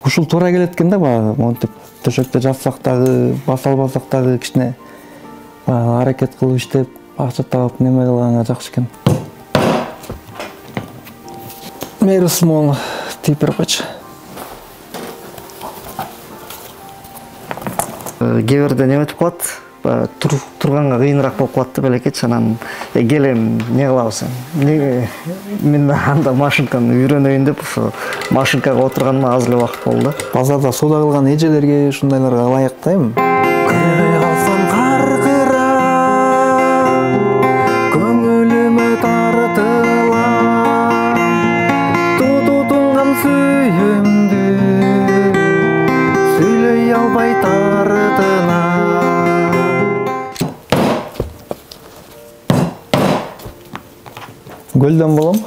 Ушул туура келет экен да, баягы монтип төшөктө жатсак дагы, баса албасак дагы кичине аракет кылып иштеп, акча таап неме кылганга жакшы экен. Мери small типер койчу. Кээ бирде неметип калат, турганга кыйыныраак болуп калат да белекечи, анан келем не кылабыз эми. Мен анда машинканы үйрөнөйүн деп ошо машинкага отурганыма аз эле убакыт болду да. Базарда соода кылган эжелерге ушундайларга ылайык да эми. Көрө алсам каркыра, көңүлүмө тартыла, тутунган сүйүмдү сүйлөй албай тартына. Көлдөн болом.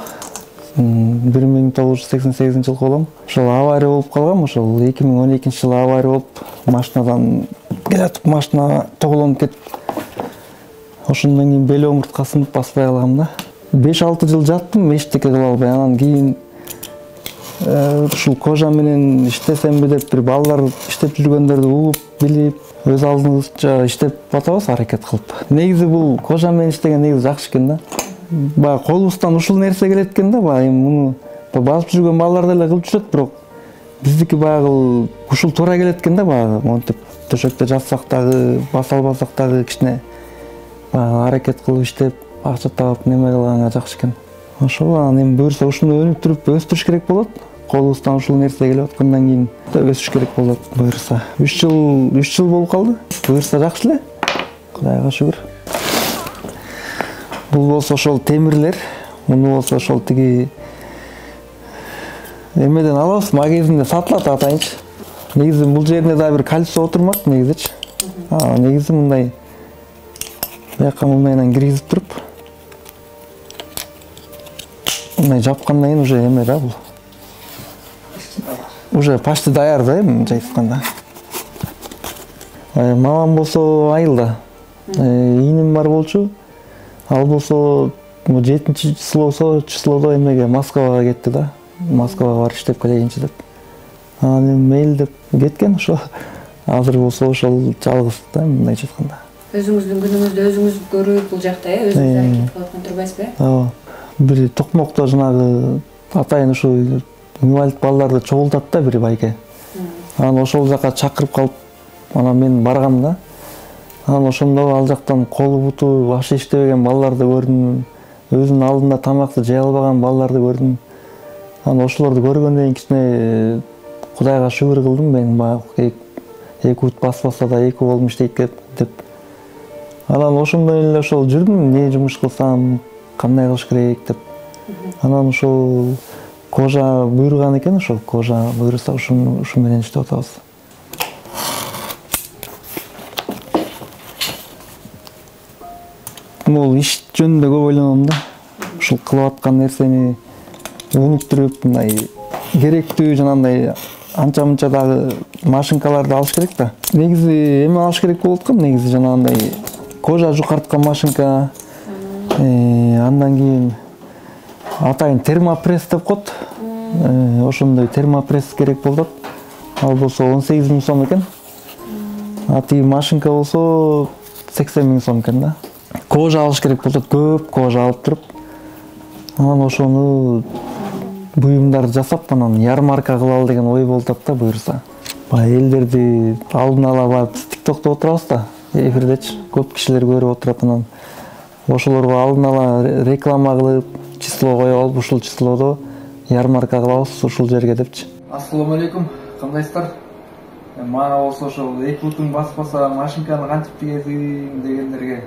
1988 жылы болом. Ошол авария болуп калгам, ошол 2012-жылы авария болуп, машинадан келатып машина тоголонуп кетип, ошондон кийин бел омурткасын баспай калгам да. 5-6 жыл жаттым, эчтеке кыла албай. Анан кийин ушул кожа менен иштесемби деп бир балдар иштеп жүргөндөрдү угуп, билип, өз алдыбызча иштеп атабыз, аракет кылып. Негизи бул кожа менен иштеген негизи жакшы экен да. Баягы колубуздан ушул нерсе келет экен да, баягы муну басып жүргөн балдар деле кылып жүрөт, бирок биздики баягы ушул туура келет экен да, баягы монтип төшөктө жатсак дагы, баса албасак дагы кичине аракет кылып иштеп, акча таап неме кылганга жакшы экен. Ошол анан эми буюрса ушуну өнүктүрүп өстүрүш керек болот. Колубуздан ушул нерсе келип аткандан кийин өсүш керек болот буюрса. 3 жыл болуп калды. Буюрса жакшы эле. Кудайга шүгүр. Бул болсо ошол темирлер, муну болсо ошол тиги эмеден алабыз, магазинде сатылат атайынчы. Негизи бул жерине да бир кольцо отурмак негизичи. Негизи мындай бияка мындайынан киргизип туруп, мындай жапкандан кийин уже эме да бул. Уже почти даяр да эми мынча айтканда. Мамам болсо айылда. Ийиним бар болчу. Ал болсо 7-числодо эмеге Москвага кетти да. Москвага барып иштеп келейинчи деп. Анан мейл деп кеткен ошо. Азыр болсо ошол жалгыз да мындайча айтканда. Өзүңүздүн күнүңүздү өзүңүз көрүп бул жакта өзүңүз аракет кылып аткан турбайсызбы? Ооба. Бир токмокто жанагы атайын ушу инвалид балдарды чогултат да бир байке. Анан ошол жака чакырып калып, анан мен баргам да. Анан ошондо ал жактан колу буту башы иштебеген балдарды көрдүм. Өзүнүн алдында тамакты жей албаган балдарды көрдүм. Анан ошолорду көргөндөн кийин кичине Кудайга шүгүр кылдым. Мен баягы 2 бут баспаса да 2 колум иштейт деп. Анан ошондой эле ошол жүрдүм, эмне жумуш кылсам, кандай кылыш керек деп. Анан ошол кожа буйруган экен, ошол кожа буйруса ушу менен иштеп атабыз. Бул иш жөнүндө көп ойлоном да. Ушул кылып аткан нерсени өнүктүрүп, мындай керектүү жанагындай анча-мынча дагы машинкаларды алыш керек да. Негизи эме алыш керек болуп аткан, негизи жанагындай кожа жукарткан машинка, андан кийин атайын термопресс деп коет. Ошондой термопресс керек болот. Ал болсо 18 000 сом экен. Тиги машинка болсо 80 000 сом экен да. Кожа алыш керек болот, көп кожа алып туруп, анан ошону буюмдарды жасап, анан ярмарка кылалы деген ой болуп атат да буюрса. Баягы элдерди алдын ала барып TikTok'то отурабыз да, эфирдечи. Көп кишилер көрүп отурат, анан ошолорго алдын ала реклама кылып, число коюп алып, ушул числодо ярмарка кылабыз ушул жерге депчи. Ассаламу алейкум, кандайсыздар? Мага болсо ошол 2 бутун баспаса машинканы кантип тигесин дегендерге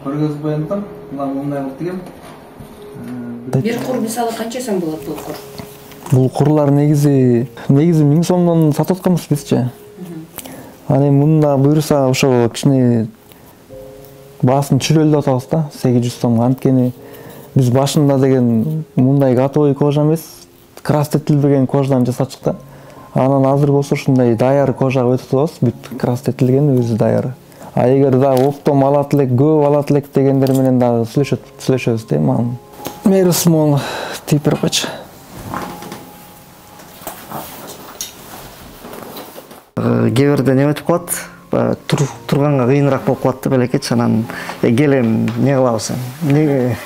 көргөзүп коюмтам. Мындай кылып тигем. Бир кур мисалы канча сом болот бул кур? Бул курлар негизи 1000 сомдон сатып атканбыз бизчи. Анан мында буюрса ошо кичине баасын түшүрөлүп атабыз да, 800 сом. Анткени биз башында деген мындай готовый кожа эмес, крастетилбеген кожадан жасачык да. Анан азыр болсо ушундай даяр кожага өтүп атабыз, бүт крастетилген, өзү даяр. Эгер да оптом алат элек, көп алат элек дегендер менен дагы сүйлөшөбүз да. Мери small типер койчу. Кээ бирде неметип калат, турганга кыйыныраак болуп калат да белекечи. Анан келем не кылабыз эмне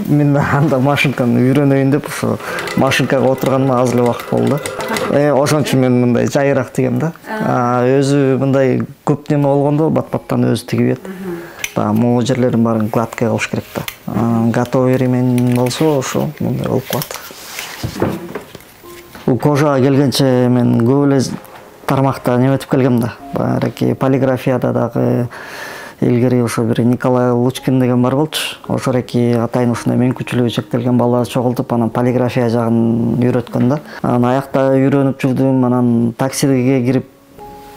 мен анда машинканы үйрөнөйүн деп ошо машинкага отурганыма аз эле убакыт болду да. Ошон үчүн мен мындай жайыраак тигем да. Өзү мындай көп неме болгондо бат-баттан өзү тигип берет. Могу жерлерин баарын гладкий кылыш керек да. Готовый ремень болсо ошо мындай болуп калат. Бул кожага келгенче мен көп эле тармакта неметип келгем да. Баягы полиграфияда дагы илгери ошо бир Николай Лучкин деген бар болчу. Ошол эки атайын ушундай мүмкүнчүлүгү чектелген балдар чогултуп, анан полиграфия жагын үйрөткөн да. Анан аякта үйрөнүп жүрдүм, анан таксиге кирип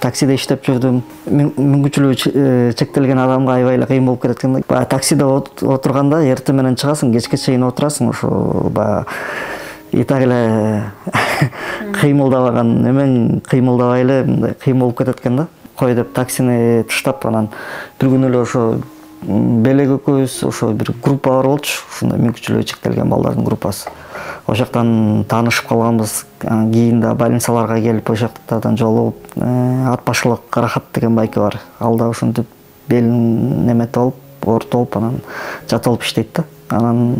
таксиде иштеп жүрдүм. Мүмкүнчүлүгү чектелген адамга аябай эле кыйын болуп кетет экен да. Баягы таксиде отурганда эртең менен чыгасың, кечке чейин отурасың, ошо баягы и так эле кыймылдабаган эмен кыймылдабай эле мындай кыйын болуп кетет экен да. Кой деп таксини таштап, анан бир күнү эле ошо Белек экөөбүз ошо бир группа бар болчу, ушундай мүмкүнчүлүгү чектелген балдардын группасы. Ошол жактан таанышып калганбыз. Кийин да больницаларга келип ошол жактардан жолугуп, ат башылык Карахат деген байке бар. Ал да ушинтип белин неметип алып, ортолуп, анан жатылып иштейт да. Анан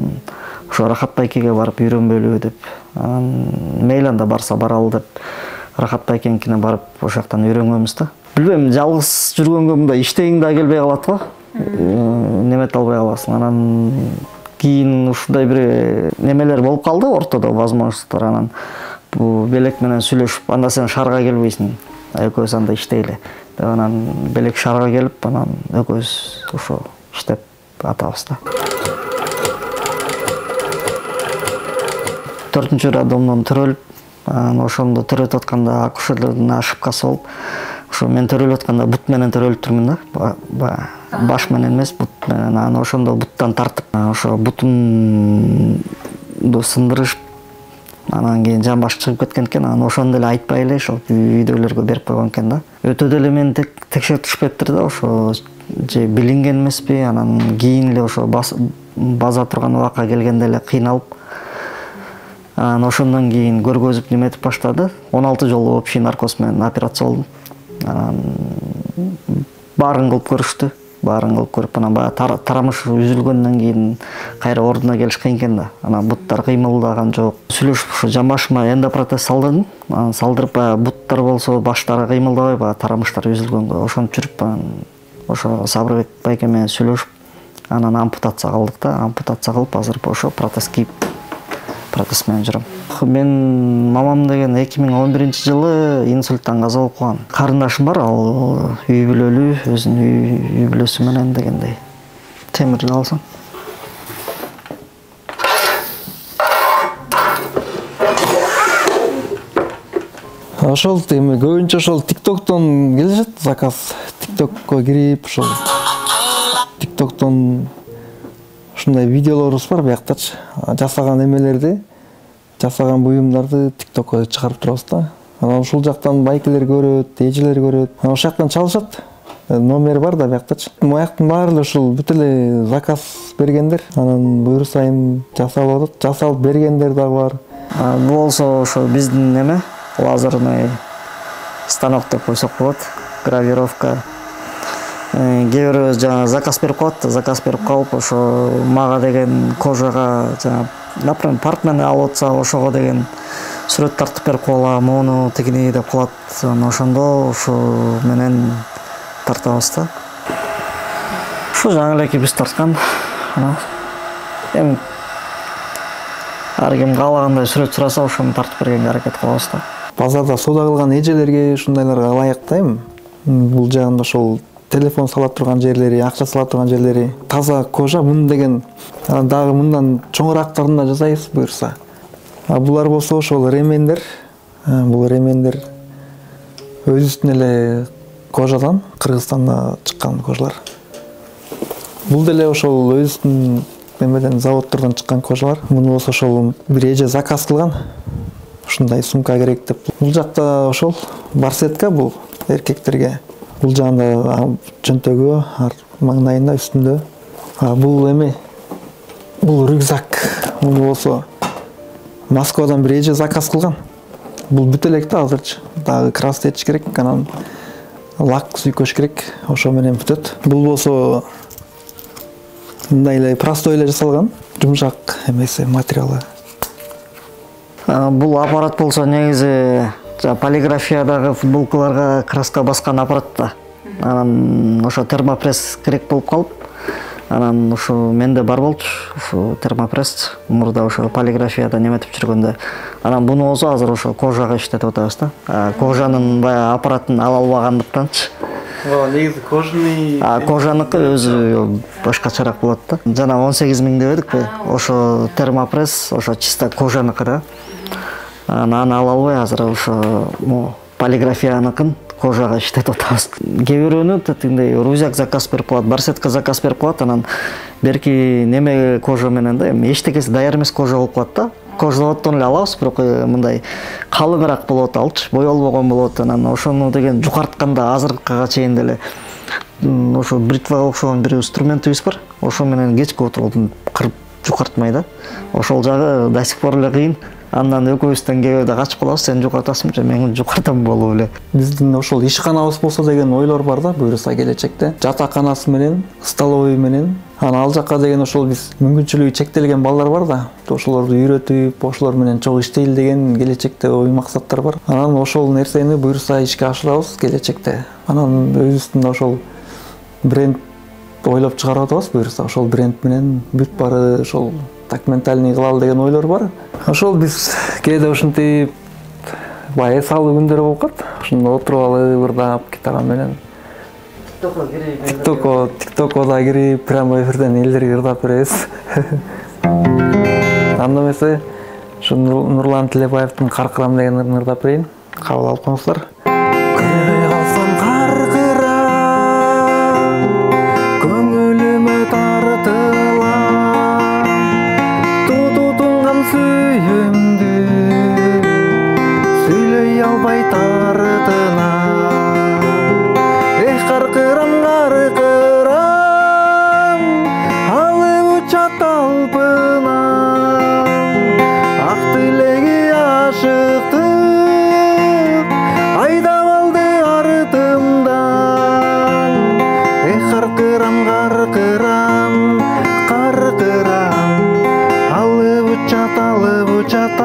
ошо Рахат байкеге барып үйрөнбөлү деп, мейли анда барса баралы деп Рахат байкенкине барып ошол жактан үйрөнгөнбүз да. Билбейм, жалгыз жүргөнгө мындай иштегиң да келбей калат го. Немете албай каласың. Анан кийин ушундай бир немелер болуп калды ортодо, возможностьтор. Анан бул Белек менен сүйлөшүп, анда сен шаарга келбейсиң, экөөбүз анда иштейле деп, анан Белек шаарга келип, анан экөөбүз ошо иштеп атабыз да. 4-чү роддомдон төрөлүп, ошондо төрөтүп атканда акушерлердин ошибкасы болуп, ошо мен төрөлүп атканда бут менен төрөлүп турмун да. Баш менен эмес, бут менен. Анан ошондо буттан тартып, ошо бутумду сындырышып, анан кийин жамбаш чыгып кеткен экен. Анан ошондо эле айтпай эле ошол үйдөгүлөргө берип койгон экен да. Өтө деле мени текшертишпептир да, ошо же билинген эмеспи. Анан кийин эле ошо база турган убакка келгенде эле кыйналып, анан ошондон кийин көргөзүп неметип баштады. 16 жолу общий наркоз менен операция болдум. Анан баарын кылып көрүштү. Баарын кылып көрүп, анан баягы тарамыш үзүлгөндөн кийин кайра ордуна келиш кыйын экен да. Анан буттар кыймылдаган жок. Сүйлөшүп ошо жамбашыма эндопротез салдырдым. Анан салдырып, баягы буттар болсо баштары кыймылдабай, баягы тарамыштар үзүлгөнгө ошентип жүрүп, анан ошо Сабырбек байке менен сүйлөшүп, анан ампутация кылдык да. Ампутация кылып, азыр ошо протез кийип, протез менен жүрөм. Мен мамам деген 2011-жылы инсульттан каза болуп калган. Карындашым бар, ал үй бүлөлүү, өзүнүн үй бүлөсү менен дегендей. Темирди алсаң. Ошол эми көбүнчө ошол TikTok'тон келишет заказ. TikTok'ко кирип, ошол TikTok'тон ушундай видеолорубуз бар бияктачы. Жасаган эмелерди, жасаган буюмдарды TikTok'ко чыгарып турабыз да. Анан ушул жактан байкелер көрөт, эжелер көрөт. Анан ошол жактан чалышат. Номер бар да бияктачы. Маяктын баары эле ушул бүт эле заказ бергендер. Анан буюрсайын жасалып атат. Жасалып бергендер дагы бар. Бул болсо ошо биздин неме, лазерный станок деп койсок болот. Гравировка. Кээ бирөө жана заказ берип коет, заказ берип калып, ошо мага деген кожага жана, например, партнерни алып атса, ошого деген сүрөт тартып берип коелам, мону тигини деп калат. Ошондо ошо менен тартабыз да. Ушу жаңы элеки биз тарткан. Эми ар ким каалагандай сүрөт сураса, ошону тартып бергенге аракет кылабыз да. Базарда соода кылган эжелерге ушундайларга ылайык да эми. Бул жагында ошол телефон сала турган жерлери, акча сала турган жерлери таза кожа, мун деген дагы мындан чоңураактарын да жасайбыз буюрса. Булар болсо ошол ремендер. Бул ремендер өзүбүздүн эле кожадан, Кыргызстанда чыккан кожалар. Бул деле ошол өзүбүздүн немеден, заводдордон чыккан кожалар. Муну болсо ошол бир эже заказ кылган. Ушундай сумка керек деп. Бул жакта ошол барсетка, бул эркектерге. Бул жагында чөнтөгү, маңдайында, үстүндө. Бул эме, бул рюкзак. Муну болсо Москвадан бир эже заказ кылган. бул бүтө элек да азырчы. Дагы краска этиш керек, анан лак сүйкөш керек. Ошо менен бүтөт. Бул болсо мындай эле простой эле жасалган, жумшак эмеси, материалы. Бул аппарат болсо негизи полиграфиядагы футболкаларга краска баскан аппарат да. Анан ошо термопресс керек болуп калып, анан ушу менде бар болчу, ушу термопресс мурда ошо полиграфияда неметип жүргөндө. Анан буну болсо азыр ошо кожага иштетип атабыз да. Кожанын баягы аппаратын ала албагандыктанчы. Негизи кожаный. Кожаныкы өзү башкачараак болот да. Жана 18 миң дебедикпи? Ошо термопресс, ошо чисто кожаныкы да. Аны ала албай азыр ошо полиграфияныкын кожага иштетип атабыз. Кээ бирөөнү тиндей рузяк заказ берип коет, барсетка заказ берип коет, анан берки неме кожа менен да, эми эчтекеси даяр эмес кожа болуп калат да. Кожзаводдон эле алабыз, бирок мындай калыңыраак болот, алчы боелбогон болот. Анан ошону деген жукартканда азыркыга чейин деле ошо бритвага окшогон бир инструментибиз бар. Ошо менен кечки отургуп кырып жукартмай да. Ошол жагы до сих пор эле кыйын. Андан экөөбүздөн кээ качып калабыз, сен жукартасыңбы, мен жукартам болуп эле. Биздин ошол ишканабыз болсо деген ойлор бар да, буюрса келечекте. Жатаканасы менен, столовый менен. Ал жакка деген ошол биз мүмкүнчүлүгү чектелген балдар бар да. Ошолорду үйрөтүп, ошолор менен чогуу иштейли деген келечекте ой максаттар бар. Анан ошол нерсени буюрса ишке ашырабыз келечекте. Анан өзүбүздүн ошол бренд ойлоп чыгарып атабыз, буюрса ошол бренд менен бүт баары ошол документальный кылалы деген ойлор бар. Ошол биз кээде ушинтип баягы салуу күндөр болуп калат. Ошондо отуруп алып ырдап гитара менен тиктокко кирип прямо эфирден элдерге ырдап беребиз. Анда эмесе ушу Нурлан Тилебаевдин Каркырам деген ырын ырдап берейин. Кабыл алып коңуздар. Көрбөй калсам каркырам, көңүлүмө тартылам, тутунган сүйүмдү сүйлөй албай тартынам. Эх каркырам, каркырам, алып учат талпынам, ак тилеги ашыктык айдап алды артымдан. Эх каркырам, каркырам, каркырам, алып учат